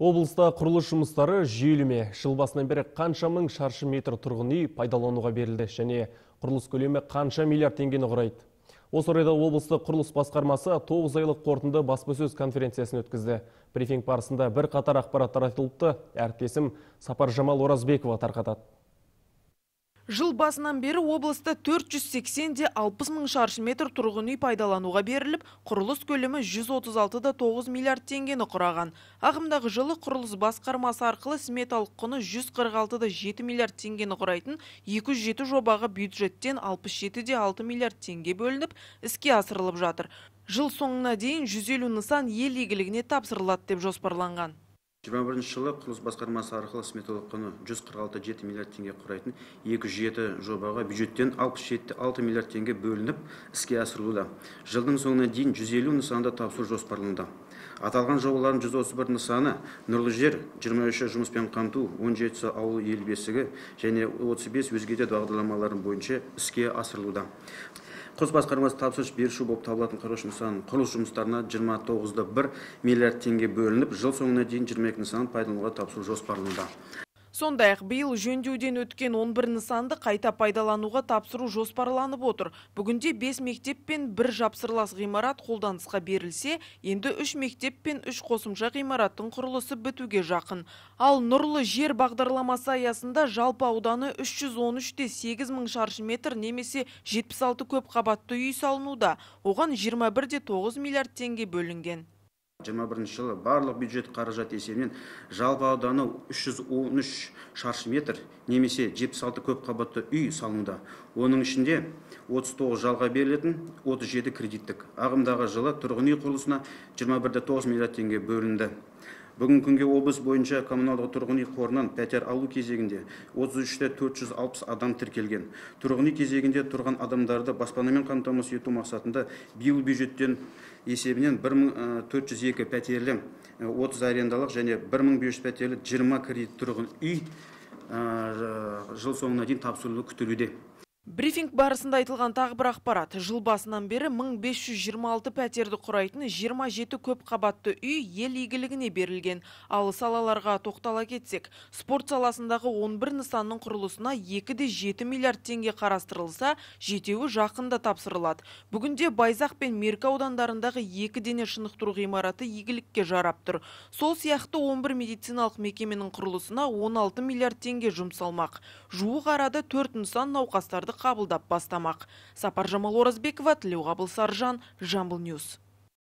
Облыста құрылыс жұмыстары жүйелі ме? Жыл басынан бері қанша мың шаршы метр тұрғын үй пайдалануға берілді және құрылыс көлемі қанша миллиард теңгені құрайды? Осы орайда облыстық құрылыс басқармасы 9 айлық қорытынды баспасөз конференциясын өткізді. Брифинг барысында бірқатар ақпараттар айтылыпты. Әріптесім Сапаржамал Оразбекова тарқатады. Жыл басынан бері облыста 480-де 60 мың шаршы метр тұрғын үй пайдалануға беріліп, құрылыс көлемі 136,9 миллиард теңгені құраған. Ағымдағы жылы құрылыс басқармасы арқылы сметалық құны 146,7 миллиард теңгені құрайтын 207 жобаға бюджеттен 67,6 миллиард теңге бөлініп, іске асырылып жатыр. Жыл соңына дейін 150 нысан ел игілігіне тапсырылады деп жоспарланған. 21 жылы құрылыс басқармасы арқылы сметалық құны 146,7 миллиард теңге құрайтын 207 жобаға бюджеттен 67,6 миллиард теңге бөлініп іске асырылуда. Жылдың соңына дейін 150 нысанды тапсыру жоспарлануда. Аталған жобалардың 131 нысаны нұрлы жер, 23 жұмыспен қамту, 17 ауыл ел бесігі және 35 өзге де бағдарламалардың бойынша іске асырылуда. Құрылыс басқармасы тапсырыс беруші болып табылатын құрылыс нысанының құрылыс жұмыстарына 29,1 миллиард теңге бөлініп, жыл соңына дейін 22 нысанын пайдалануға тапсыру жоспарлануда. Сондай-ақ биыл жөндеуден өткен 11 нысанды қайта пайдалануға тапсыру жоспарланып отыр. Бүгінде 5 мектеп пен 1 жапсырлас ғимарат қолданысқа берілсе, енді 3 мектеп пен 3 қосымша ғимараттың құрылысы бітуге жақын. Ал нұрлы жер бағдарламасы аясында жалпы ауданы 313-те 8 мың шаршы метр немесе 76 көп қабатты үй салынуда. Оған 21,9 миллиард теңге бөлінген. 21 жылы барлық бюджет қаражат есебінен жалпы ауданы 313 шаршы метр немесе 76 көп қабатты үй салынуда. Оның ішінде 39 жалға берілетін, 37 кредиттік. Ағымдағы жылы тұрғын үй құрылысына 21,9 миллиард теңге бөлінді. Бүгін күнге облыс бойынша коммуналдық тұрғын үй қорынан пәтер алу кезегінде 33-те 460 адам тіркелген. Тұрғын үй кезегінде тұрған адамдарды баспанамен қамтамасыз ету мақсатында биыл бюджеттен есебінен 1402 пәтерлі 30 арендалық және 1500 пәтерлі 20 кредит тұрғын үй жыл соңына дейін тапсырылуы күтілуде. Брифинг барысында айтылған тағы бір ақпарат. Жыл басынан бері 1526 пәтерді құрайтын 27 көп қабатты үй ел игілігіне берілген. Ал салаларға тоқтала кетсек, спорт саласындағы 11 нысанның құрылысына 2,7 миллиард теңге қарастырылса, 7-еуі жақында тапсырылады. Бүгінде Байзақ пен Меркі аудандарындағы 2 дене шынықтыру ғимараты игілікке жарап тұр. Сол сияқты 11 медициналық мекеменің құрылысына 16 миллиард теңге жұмсалмақ. Жуық арада 4 нысан науқастарды қабылдап бастамақ. Сапаржамал Оразбекова, Тілеуғабыл Саржан, Жамбыл Ньюс.